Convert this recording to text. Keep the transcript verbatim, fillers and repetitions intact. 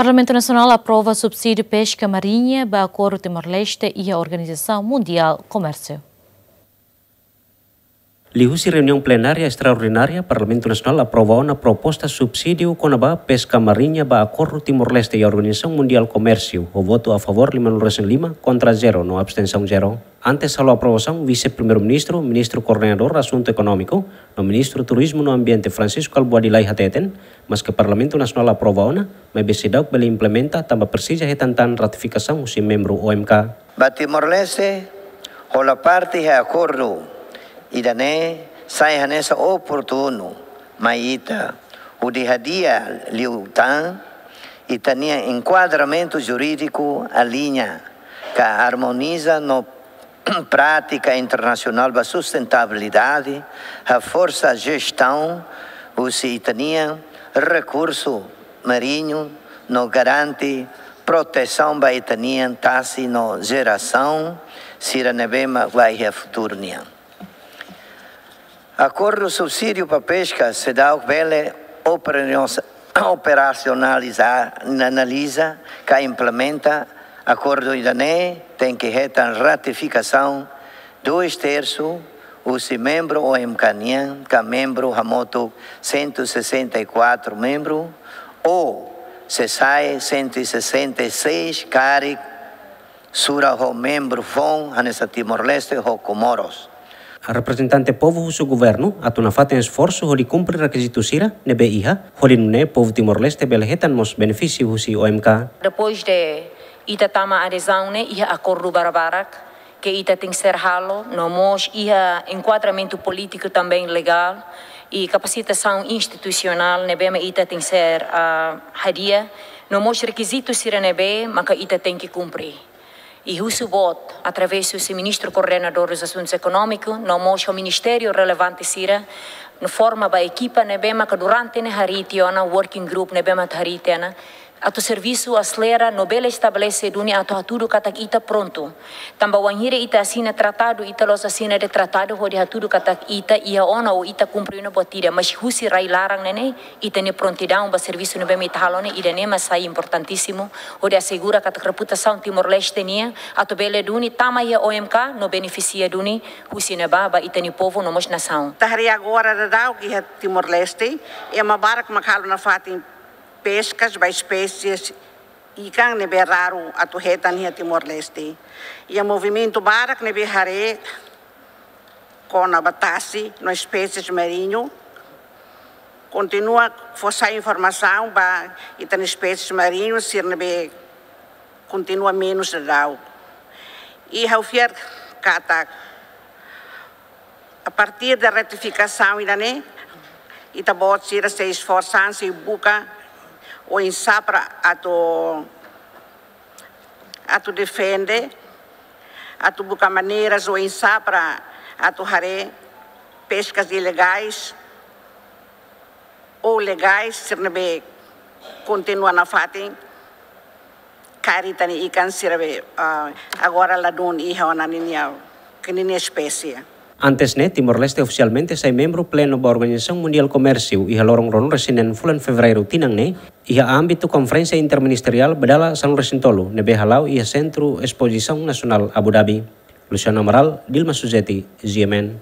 Parlamentu Nasionál aprova subsídiu peska mariña ba akordu Timor-Leste iha Organizasaun Mundiál Komérsiu. Liuhusi reuniaun plenária estraordinária, Parlamentu Nasionál aprova ona proposta subsídiu kona-ba peska mariña ba akordu Timor-Leste iha Organizasaun Mundiál Komérsiu, ho votu a favór lima nulu resin lima, kontra zero, no abstensaun zero. Antes halo aprovasaun, Vise-Primeiru-Ministru, Ministru Koordenadór Asuntu Ekonómiku, no Ministru Turizmu no Ambiente, Francisco Albuady Lay hateten, maske Parlamentu Nasionál aprova ona, maibé seidauk bele implementa tanba presiza hetan tan ratifikasaun husi membru O M K. Ba Timor-Leste, hola parte iha akordu ida-ne'e sai hanesan oportunu mai ita, hodi hadi'a liután ita-nia enkuadramentu jurídiku aliña ka armoniza no prátika internasionál ba sustentabilidade, haforsa jestaun husi ita-nia rekursu mariñu, no garante protesaun ba ita-nia tasi no jerasaun sira ne'ebé mak ba iha futuru nian. Akordu subsídiu ba peska seidauk bele operasionaliza, analiza ka implementa akordu ida-ne'e tenke hetan ratifikasaun dois terços husi membru O M K nian, ka membru hamutuk cento e sessenta e quatro membru, ou se sai cento e sessenta e seis karik sura ho membru foun hanesan Timor-Leste ho Komoros. Reprezentante povu husu governu atu nafatin esforsu hodi kumpre rekizitu sira ne'ebé iha, hodi nune'e povu Timor-Leste bele hetan mós benefísiu husi O M K. Depois de ita tama adezaun ne'e, iha akordu barbarak ke ita tenke ser halo, no mós iha enkuadramentu polítiku também legál, i kapasitasaun institusionál ne'ebé mak ita tenke ser, ah, hadi'a, no mós rekizitu sira ne'ebé maka ita tenke kumpre. I husu boot, através husi Ministru Koordenadór dos Asuntus Ekonómiku, no mós ho ministériu relevante sira, no forma ba ekipa ne'ebé maka durante ne'e harii tiha ona, working group ne'ebé maka harii tiha ona, atu servisu aselera no bele estabelese duni atu hatudu katak ita prontu. Tanba wainhira ita asina tratadu, ita la'ós asina de'it tratadu hodi hatudu katak ita iha ona ou ita kumpre ona, buat ida, mas husi rai-laran ne'e ne'e, ita-nia prontidaun ba servisu ne'ebé mak ita halo ne'e, ida-ne'e mak sai importantísimu, hodi asegura katak reputasaun Timor-Leste nian, atu bele duni tama iha O M K, no benefisia duni husi ne'ebá ba ita-nia povu no mós nasaun. Ita haree agora daudaun iha Timor-Leste, ema barak mak halo nafatin peskas ba espésies ikan ne'ebé raru atu hetan iha Timor-Leste. Iha movimentu barak ne'ebé haree kona-ba tasi no espésies mariñu. Kontinua fó sai informasaun ba ita-nia espésies mariñu sira ne'ebé kontinua menus daudaun. I ha'u fiar katak a partir de ratifikasaun ida-ne'e, ita-boot sira sei esforsa an, sei buka oinsá para atu, atu defende, atu buka maneiras oinsá para atu haree peskas ilegais ou legais sira ne'ebé kontinua nafatin kari ita-nia ikan sira be, ah, agora ladún iha ona ninia, ke ninia espésie. Antes ne'e, Timor-Leste ofisialmente sai membru plenu ba Organizasaun Mundiál Komérsiu iha loron ruanulu resin neen fulan Fevereiru tinan ne'e, iha ámbitu konferénsia interministeriál ba dala sanulu resin tolu ne'ebé hala'o iha Sentru Espozisaun Nasionál Abu Dhabi. Luciano Amaral, Dilma Suzeti, G M N.